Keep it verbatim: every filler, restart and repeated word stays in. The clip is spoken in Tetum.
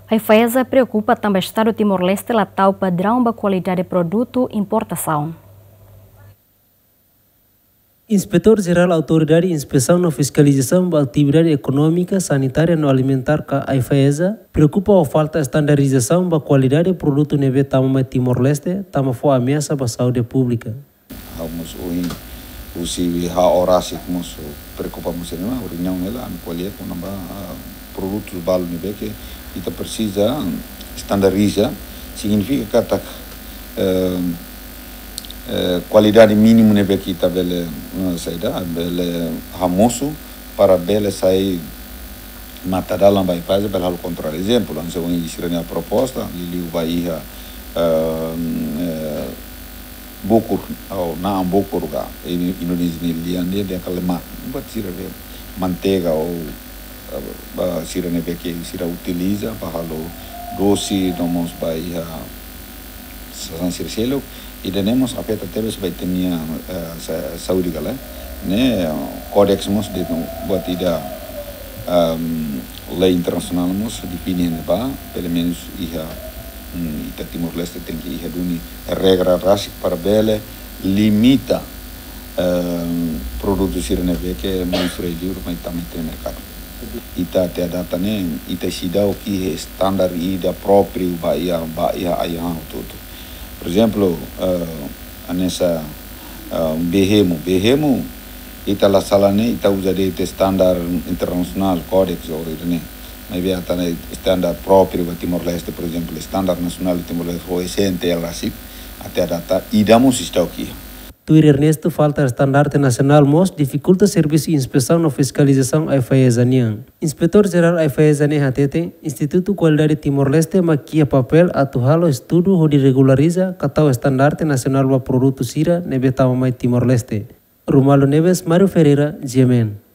AIFAESA preokupa tanba Estadu Timor-Leste la tau padraun ba kualidade produtu importasaun. Inspetór Jerál Autoridade Inspesaun no Fiskalizasaun ba Atividade Ekonómika, Sanitária no Alimentár ka AIFAESA preokupa ho falta estandarizasaun ba kualidade produtu ne'ebé tama mai Timor-Leste, tama fó ameasa ba saúde públika. Ha'u mós ohin, husi ha'u rasik mós preokupa mós ne'e, reuniaun ne'e la, ami ko'alia kona-ba, ah, produtus balu ne'ebé ke ita presiza estandariza, signifika katak, eh, eh, kualidade mínimu ne'ebé ke ita bele, eh, saida, bele hamosu para bele sai matadalan ba AIFAESA bele halo kontrole. Ezemplu, hanesan ohin sira-nia proposta, liuliu ba iha, eh, eh, bokur, ou na'an bokur ka, i-, Indonézia nia lian dehan, dehan kalemar. Buat sira be manteiga ou, eh, ba sira ne'ebé ke sira utiliza ba halo dose, no mós ba iha sasán sira seluk, ida-ne'e mós afeta tebes ba ita-nia, eh, sa-, saúde ka lae. Ne'e, eh, kódeks mós dehan buat ida, ehm, lei internasionál mós define ne'ebá, pelumenus iha, mm, ita Timor-Leste tenke iha duni regra rasik para bele limita, ehm, produtu sira ne'ebé ke mai fora liur mai tama iha merkadu. Ita até data ne'e, ita seidauk iha estandar ida própriu ba iha, ba iha ai-han hotu-hotu. Por ezemplu, eh, hanesan, eh, bee hemu. Bee hemu, ita la sala ne'e, ita uza de'it estandar internasionál, kódeks ou ida-ne'e. Maibé ita-nia estandar própriu ba Timor-Leste, por ezemplu, estandar nasionál Timor-Leste, ho S N T L rasik, até data, ida mós seidauk iha. Tuir Ernesto, falta estandarte nasionál mós difikulta servisu inspesaun no fiskalizasaun AIFAESA nian. Inspetór Jerál AIFAESA ne'e hateten, Institutu Kualidade Timor-Leste mak iha papél atu halo estudu hodi regulariza ka tau estandarte nasionál ba produtu sira ne'ebé tama mai Timor-Leste. Romualdo Neves, Mário Ferreira, G M N.